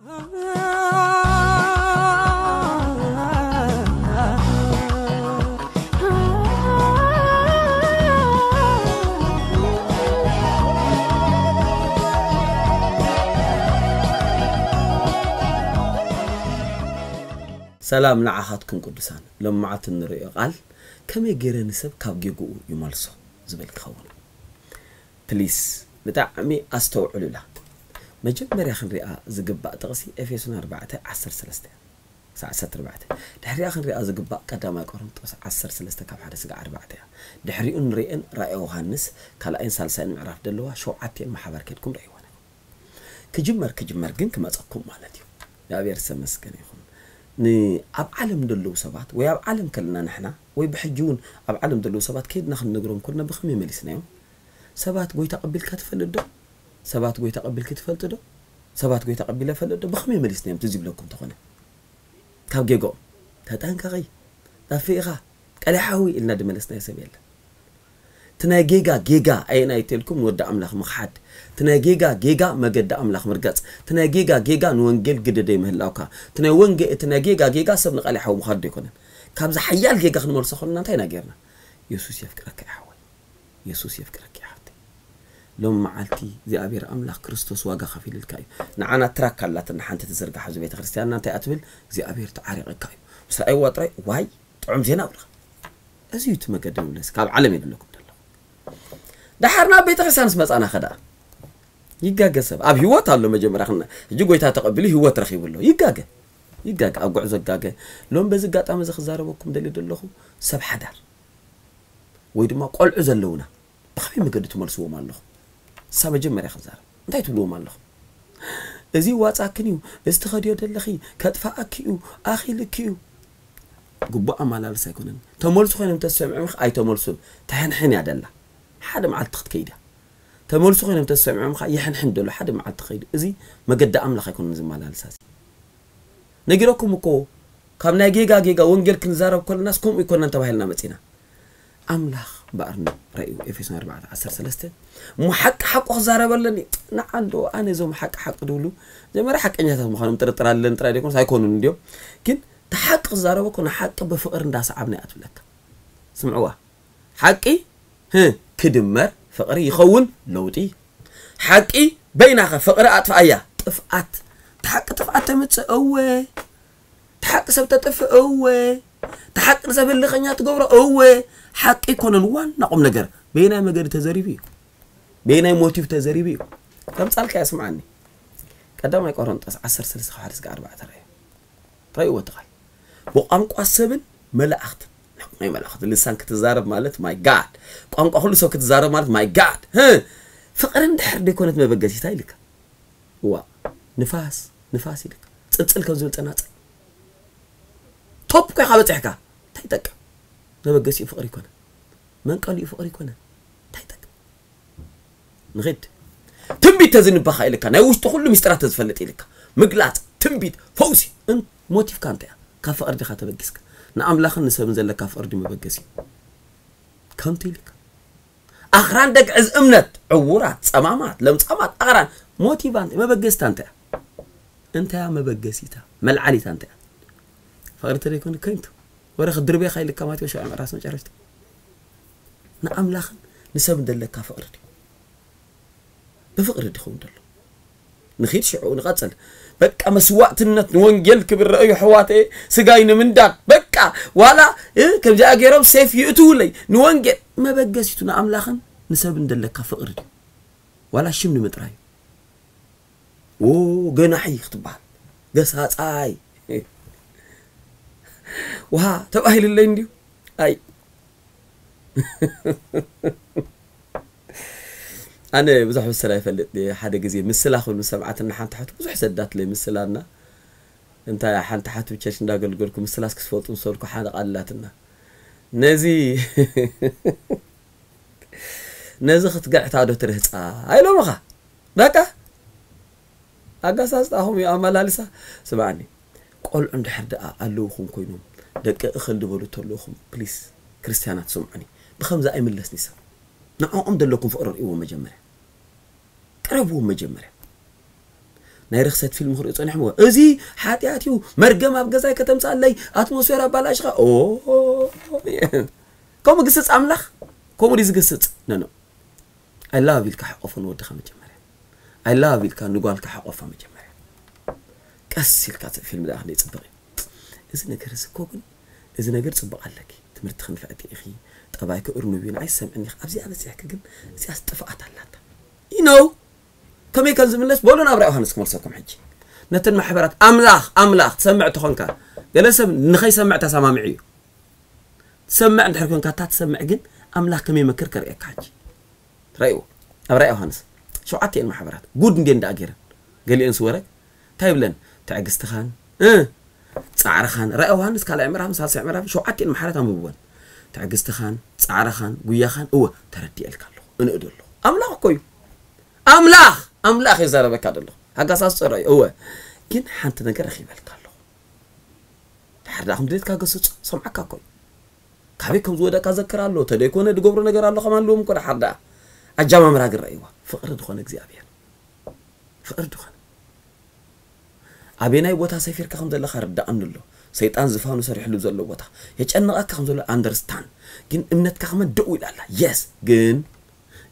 ሰላም ንዓኻትኩም ቅዱሳን። ሎም መዓልቲ እንርእዮ ቃል ከመይ ገይረ ንሰብ ካብ ጌግኡ ይመልሶ ዝብል ክኸውን። ፕሊስ ብጣዕሚ ኣስተውዕሉላ። መጀመርያ ክንሪኣ ዝግባእ ጥቕሲ ኤፌሶን ኣርባዕተ ዓሰርተ ሰለስተ ክሳዕ ዓሰርተ ኣርባዕተ። ድሕሪኣ ክንሪኣ ዝግባእ ቀዳማይ ቆሮንጦስ ዓሰርተ ሰለስተ ካብ ሓደ ስጋዕ ኣርባዕተ እያ። ድሕሪኡ ንርእየን ራእየ ዮሃንስ ካልኣይን ሳልሳይን ምዕራፍ ደለዋ ሸውዓቲኤን ብሓባር ከድኩም ርእይወን። ክጅመር ክጅመር ግን ክመጸኩም ማለት እዩ። እግዚኣብሔር ዝተመስገነ ይኹን። ንኣብ ዓለም ዘለዉ ሰባት ወይ ኣብ ዓለም ከለና ንሕና ወይ ብሕጂ እውን ኣብ ዓለም ዘለዉ ሰባት ከይድና ክንነግሮም ኮልና ብኸመይ መሊስናዮም? ሰባት ጎይታ ቀቢልካ ትፈልጥ ዶ? ሰባት ጎይታ ቀቢልኪ ትፈልጥ ዶ? ሰባት ጎይታ ቀቢለ ፈልጥ ዶ? ብኸመይ መሊስናዮም ትዝ ይብለኩም ተኾነ? ካብ ጌጋኦም ተጠንቀቒ፣ ጠፊእኻ፣ ቀሊሓዊ ኢልና ድመለስናዮ ሰብ የለን። እቲ ናይ ጌጋ ጌጋ ኣየናይ ተልኩም ንወዲ ኣምላኽ ምኽሓድ፣ እቲ ናይ ጌጋ ጌጋ መገዲ ኣምላኽ ምርጋጽ፣ እቲ ናይ ጌጋ ጌጋ ንወንጌል ግደ ደይ ምህላውካ፣ እቲ ናይ ወንጌ እቲ ናይ ጌጋ ጌጋ ሰብ ንቐሊሓዊ ምኻድ ዶ ኣይኮነን። ካብዚ ሓያል ጌጋ ክንመልሶ ከለና እንታይ ኢና ጌርና? የሱስ የፍቅረካ ይሓወይ። የሱስ የፍቅረኪ ይሓፍተይ። ሎም መዓልቲ እግዚኣብሔር ኣምላኽ ክርስቶስ ዋጋ ከፊልልካ እዩ። ንዓና ትራክ ኣላትና ሓንቲ ትዝርጋሕ ኣብዚ ቤተ ክርስቲያንና እንታይ ኣትብል እግዚኣብሔር ተዓሪቐካ እዩ። ምስ ረኣይዋ ጥራይ ዋይ ጥዑም ዜና ብልኻ። እዚ እዩ እቲ መገዲ ምብለስ ካብ ዓለም የድለኩም ደለኹ። ደሓር ናብ ቤተ ክርስቲያን ምስ መጻና ኸዳ ይጋገ ሰብ ኣብ ህይወት ኣሎ መጀመርያ ክና ሕጂ ጎይታ ተቐቢሉ ህይወት ረኺቡ ኣሎ ይጋገ ይጋገ ኣብ ጉዕዞ ጋገ። ሎም በዚ ኣጋጣሚ እዚ ክዛረበኩም ደሊ ደለኹ ሰብ ሓዳር ወይ ድማ ቆልዑ ዘለውና ብኸመይ መገዲ ትመልስዎም ኣለኹ? እሳ መጀመርያ ክዛረብ እንታይ ትብልዎም ኣለኹ? እዚ ዋፃክን እዩ፣ እዚ ትኸድዮ ደለኺ ከጥፋኣኪ እዩ፣ ኣኺልኪ እዩ። ግቡእ ኣመላልስ ኣይኮነን። ተመልሱ ኮይኖም ተሰምዕምክ ኣይተመልሱን። ተሕንሕን እያ ደላ። ሓደ መዓልቲ ክትከይድ እያ። ተመልሱ ኮይኖም ተሰምዕምካ ይሕንሕን ደሎ ሓደ መዓልቲ ከይዱ። እዚ መገዲ ኣምላኽ ኣይኮነን ዝመላልሳ እዚ። ነጊረኩም እኮ ካብ ናይ ጌጋ ጌጋ ወንጌል ክንዛረብ ከለናስ ከምኡ ይኮነን ተባሂልና መጺና። ኣምላኽ እምበኣር ንረእዩ ኤፌሶን ኣርባዕተ ዓሰርተ ሰለስተ እሞ ሓቂ ሓቁ ክዛረበለኒ ንዓንዶ ኣነ እዞም ሓቂ ሓቂ ድብሉ መጀመርያ ሓቀኛታት ምዃኖም ጥርጥር ኣለኒ ጥራይ ደይኮኑስ ኣይኮኑን እንዲዮም ግን ተሓቂ ክዛረበ እኮ ንሓቂ ብፍቕሪ እንዳሰዓብና እያ ትብለካ ስምዕዋ ሓቂ ህ ክድመር ፍቕሪ ይኸውን ለውጢ ሓቂ በይናኸ ፍቕሪ ኣጥፍኣያ ጥፍኣት ተሓቂ ጥፍኣት ተምፅእ እወ ተሓቂ ሰብ ተጥፍእ እወ ተሓቂ ንሰብ ህልኸኛ ትገብሮ እወ ሓቂ ኣይኮነን ዋና ቁም ነገር በየናይ መገዲ ተዘሪቡ እዩ በየናይ ሞቲቭ ተዘሪቡ እዩ ከምፃልካ እያ ስምዓኒ ቀዳማይ ቆሮንጦስ ዓሰርተ ሰለስተ ካብ ሓደ ስጋ ኣርባዕተ ረእዩ ረእይዎ እቲ ቃል ብቋንቋ ሰብን መላእኽትን ናይ መላእኽቲ ልሳን ክትዛረብ ማለት ማይ ጋድ ቋንቋ ኩሉ ሰብ ክትዛረብ ማለት ማይ ጋድ ፍቕሪ እንድሕር ደይኮነት መበገሲታ ኢልካ እዋ ንፋስ ንፋስ ኢልካ ፅልፅል ከም ዝብል ፀናፅል ቶፕ ኮይካ በፂሕካ እንታይ ይጠቅም መበገሲኡ ፍቕሪ ይኮነ መንቀሊኡ ፍቕሪ ይኮነ እንታይ ይጠቅም ንኺድ ትንቢት ተዝንበኻ ኢልካ ናይ ውሽጢ ኩሉ ሚስጥራት ተዝፈልጥ ኢልካ ምግላፅ ትንቢት ፈውሲ ሞቲፍካ እንታይ እያ ካብ ፍቕሪ ዲኻ ተበጊስካ ንኣምላኽን ንሰብን ዘለካ ፍቕሪ ድዩ መበገሲ ከምቲ ኢልካ ኣኽራን ደግዕዝ እምነት ዕዉራት ጸማማት ለምጻማት ኣኽራን ሞቲቫ እንታይ መበገስታ እንታይ እያ እንታይ እያ መበገሲታ መልዓሊታ እንታይ እያ ፍቕሪ ተደይኮነ ከንቱ ወረ ክድርቤኻ ኢልካ ማቴዎስ ሸውዓይ ምዕራፍ መጨረሽታ ንኣምላኽን ንሰብን ዘለካ ፍቕሪ ድዩ ብፍቕሪ ድኸውን ደሎ ንኺድ ሽዑ ንቐጽል በቃ መስዋእትነት ንወንጌል ክብር ረእዩ ሕዋተ ስጋይ ንምንዳድ በቃ ዋላ ከምዚኣ ገይሮም ሴፍ ይእትውለይ ንወንጌል መበገሲቱ ንኣምላኽን ንሰብን ደለካ ፍቕሪ ድዩ ዋላ ሽም ንምጥራይ ዎ ገናሒ ክትበሃል ገሳፃይ ውሃ ተባሂልለይ እንድዩ ኣይ ኣነ ብዙሕ ምስላ ይፈልጥ ሓደ ግዜ ምስላ ክብል ምስ ሰምዓትና ሓንቲ ሓቱ ብዙሕ ሰዳትለይ ምስላና እንታይ ሓንቲ ሓቱ ቸርች እንዳገልገልኩ ምስላስ ክስፈልጡ ዝሰልኩ ሓደ ቃልላትና ነዚ ነዚ ክትግዕታ ዶ ትርህፃ ኣይሎምኻ በቃ ኣጋሳስጣኹም እዩ ኣመላልሳ ስማዕኒ ቆልዑ እንድሕር ደኣ ኣለውኹም ኮይኖም ደቂ እኽል ዝበሉ ተለኹም ፕሊስ ክርስትያናት ስምዑኒ ብኸምዚ ኣይምለስኒ ሰብ ንዕኦም ዘለኩም ፍቕሪ ርእይዎ መጀመርያ ቅረብዎም መጀመርያ ናይ ርኽሰት ፊልም ክሪኦ ጸኒሖም። እዚ ሓጢኣት እዩ፣ መርገም ኣብ ገዛይ ከተምጻለይ፣ ኣትሞስፌር ኣባላሽኻ። ኦ፣ ከምኡ ግስጽ ኣምላኽ፣ ከምኡ ድዩ ዝግስጽ? ነኖ። I love ኢልካ ሓቆፎ ንወድኻ መጀመርያ። I love ኢልካ ንጓልካ ሓቆፋ መጀመርያ። ቀስ ኢልካ ፊልም ደኣ ክንደይ ጽብቕ እዩ። እዚ ነገር እዚ እኮ ግን፣ እዚ ነገር ጽቡቕ ኣለኪ። ትምህርቲ ክንፈዕቲ ኢኺ። ጠባይኪ እርኑብ እዩ፣ ንዓይ ዝሰምዕኒ ኢኺ። ኣብዚኣ በጺሕኪ ግን፣ እዚኣስ ጥፍኣት ኣላታ። You know፣ ከመይ ከም ዝምለስ በሉ ናብ ራእይ ዮሃንስ ክመልሰኩም ሕጂ። ነተን ማሕበራት ኣምላኽ፣ ኣምላኽ ትሰምዕ ተኾንካ፣ ገለ ሰብ ንኸይሰምዕ ተሰማሚዑ እዩ። ትሰምዕ እንድሕር ኮንካ፣ እታ ትሰምዕ ግን ኣምላኽ ከመይ መክር ከርእየካ ሕጂ። ራእይዎ። ኣብ ራእይ ዮሃንስ ሸውዓተ እየን ማሕበራት። ጉድ እንዴ እንዳ ገይረን። ገሊአን ስወረ እንታይ ይብለን? ትዕግስትኻን፣ እ፣ ጻዕርኻን። ራእይ ዮሃንስ ካልኣይ ምዕራፍ፣ ሳልሳይ ምዕራፍ፣ ሸውዓተ እየን ማሕበራት ኣንብብወን። ትዕግስትኻን፣ ጻዕርኻን፣ ጉያኻን፣ እወ፣ ተረዲኤልካ ኣለኹ። እንእዶ ኣለኹ። ኣምላኽ እኮ እዩ። ኣምላኽ፣ ኣምላኽ የዛረበካ ደሎ። ሃጋሳስ ጸረ እዩ። እወ። ግን ሓንቲ ነገር ረኺበልካ ኣለኹ። ድሓር ደኣ ከም ድሌትካ ገስጾ፣ ሰምዓካ እኮ እዩ። ካበይ ከም ዝወደቅካ ዘክር ኣሎ። ተደይኮነ ድገብሮ ነገር ኣሎ፣ ከማን ልዎም እኮ ድሓር ደኣ። ኣጃማምራ ግን ረእይዋ። ፍቕሪ ዝኾነ እግዚኣብሔር። ፍቕሪ ዝኾነ። ኣበናይ ቦታ ሰፊርካ ከም ዘለኻ ርዳእኒ ኣሎ። ሰይጣን ዝፋኑ ሰሪሕሉ ዘሎ ቦታ። የጨንቐካ ከም ዘሎ ኣንደርስታን። ግን እምነትካ ከመን ደው ኢላ ኣላ። የስ፣ ግን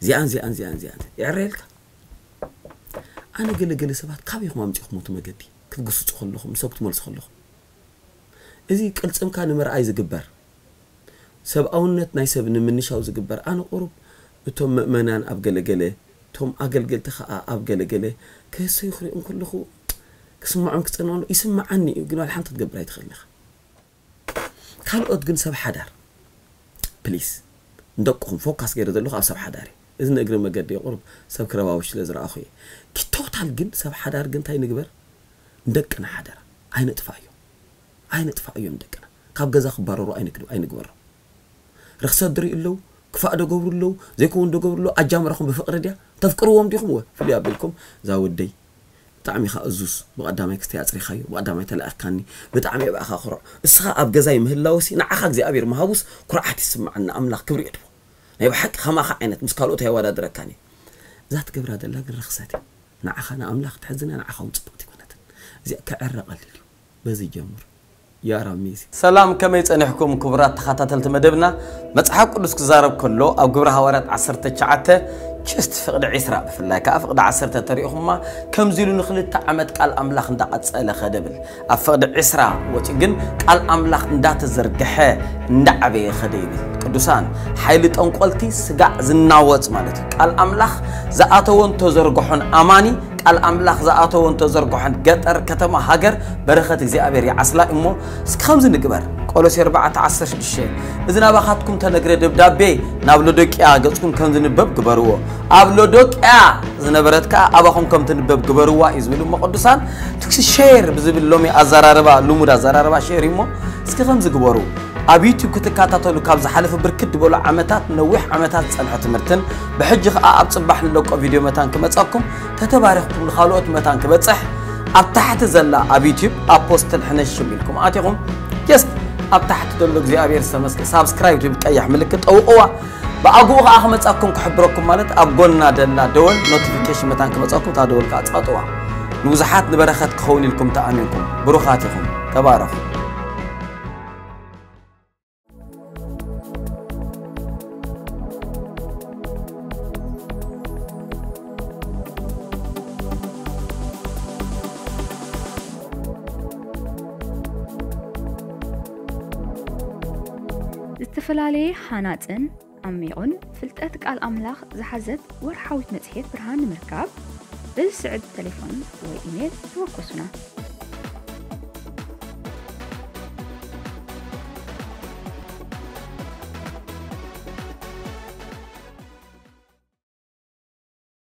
እዚኣን፣ እዚኣን፣ እዚኣን፣ እዚኣን። የዕረየልካ። ኣነ ገለ ገለ ሰባት ካበይ ኢኹም ኣምጺእኹም እቲ መገዲ? ክትግስጹ ከለኹም፣ ንሰብ ክትመልሱ ከለኹም። እዚ ቅልጽምካ ንምርኣይ ዝግበር፣ ሰብኣውነት ናይ ሰብ ንምንሻው ዝግበር፣ ኣነ ቁሩብ እቶም ምእመናን ኣብ ገለ ገለ፣ እቶም ኣገልገልቲ ኸኣ ኣብ ገለ ገለ ክህሰዩ ክሪኦም ከለኹ፣ ክስምዖም ክጸንዖም ይስምዓኒ እዩ፣ ግን ዋላ ሓንቲ ክትገብር ኣይትኽእልን ኢኻ። ካልኦት ግን ሰብ ሓዳር፣ ፕሊስ፣ ንደቅኹም ፎካስ ገይረ ዘለኹ ኣብ ሰብ ሓዳር እዩ። እዚ ንእግሪ መገዲ ቁሩብ ሰብ ክረባብሽ ስለ ዝረኣኹ እየ። ኪ ቶታል ግን ሰብ ሓዳር ግን እንታይ ንግበር? ንደቅና ሓደራ ኣይነጥፋእዮም። ኣይነጥፋእዮም ደቅና። ካብ ገዛ ክባረሩ ኣይንግድ-፣ ኣይንግበሮም። ርኽሰት ድርእዩ ኣለዉ፣ ክፋእ ደገብሩ ኣለዉ፣ ዘይከውን ደገብሩ ኣለዉ። ኣጃምራኹም ብፍቕሪ ድያ? ተፍቅርዎም ዲኹም? ወ-፣ ፍልይ ኣቢልኩም፣ እዛ ወደይ ብጣዕሚ ኢኻ እዙዝ፣ ብቐዳማይ ክስተይ ኣጽሪኻዮ፣ ብቐዳማይ ተላኢኽካኒ፣ ብጣዕሚ እየ ብኣኻ ክርዖ። እስኻ ኣብ ገዛይ ምህላወሲ ንዓኻ እግዚኣብሔር ምሃቡስ ኩርዓት ይስምዓኒ፣ ንኣምላኽ ክብሪ የድቦ። ናይ ብሓቂ ከማኻ ዓይነት ምስ ካልኦት ኣየወዳድረካን እየ። እዛ ትገብራ ዘላ ግን ርኽሰት እያ። ንዓኻ ንኣምላኽ ትሕዝን እያ፣ ንዓኻ እውን ጽብቕቲ ኣይኮነትን። እዚኣ ክዕረ ቀሊል እዩ። በዚ ጀምሩ። You are amazing። ሰላም፣ ከመይ ጸኒሕኩም ክቡራት ተኸታተልቲ መደብና? መጽሓፍ ቅዱስ ክዛረብ ከሎ ኣብ ግብረ ሃዋርያት ዓሰርተ ትሽዓተ ችስት ፍቕዲ ዒስራ ብፍላይ ከኣ ፍቕዲ ዓሰርተ ተሪእኹማ ከምዚ ኢሉ ንኽልተ ዓመት ቃል ኣምላኽ እንዳቐጸለ ኸደ ብል። ኣብ ፍቕዲ ዒስራ ወጺኡ ግን ቃል ኣምላኽ እንዳተዘርግሐ እንዳዓበየ ኸደ ይብል። ቅዱሳን፣ ሓይሊ ጠንቆልቲ ስጋዕ ዝናወጽ ማለት እዩ። ቃል ኣምላኽ ዝኣተወን ተዘርግሖን ኣማኒ ቃል ኣምላኽ ዝኣተወን ተዘርግሖን ገጠር፣ ከተማ፣ ሃገር በረኸት እግዚኣብሔር ይዓስላ እሞ እስኪ ከምዚ ንግበር። ቆሎሴ ኣርባዕተ ዓሰርተ ሽዱሽተ፣ እዚ ናባኻትኩም ተነግረ ደብዳቤ ናብ ሎዶቅያ ገጽኩም ከም ዝንበብ ግበርዎ። ኣብ ሎዶቅያ ዝነበረት ከኣ ኣባኹም ከም ትንበብ ግበርዋ እዩ ዝብል እሞ ቅዱሳን፣ ትኩሲ ሼር ብዝብል ሎሚ ኣዘራርባ፣ ልሙድ ኣዘራርባ ሼር እዩ እሞ እስኪ ከምዚ ግበሩ። ኣብ ዩቱብ ክትከታተሉ ካብ ዝሓለፈ ብርክት ዝበሉ ዓመታት፣ ነዊሕ ዓመታት ዝጸንሐ ትምህርትን ብሕጂ ከኣ ኣብ ጽባሕ ንለቆ ቪድዮ መታን ክመጸኩም ተተባሪኽኩም ንኻልኦት መታን ክበጽሕ ኣብ ታሕቲ ዘላ ኣብ ዩቱብ ኣፖስትል ሕነሽም ኢልኩም ኣቲኹም ጀስት ኣብ ታሕቲ ዘሎ እግዚኣብሔር ዝተመስገ ሳብስክራይብ ትብል ቀያሕ ምልክት ጠውቕዋ። ብኣግኡ ከኣ ክመጻኩም ክሕብረኩም ማለት ኣብ ጎና ደላ ደወል ኖቲፊኬሽን መታን ክመጻኩም እታ ደወል ከኣ ጸቕጥዋ። ንብዙሓት ንበረኸት ክኸውን ኢልኩም ተኣሚንኩም ብሩኻት ኢኹም። ተባረኹ። ዝተፈላለየ ሃናጽን ዓሚቑን ፍልጠት ቃል ኣምላኽ ዝሓዘት ወርሓዊት መጽሔት ብርሃን ንምርካብ በዚ ስዕብ ተሌፎን ወይ ኢሜል ተወከሱና።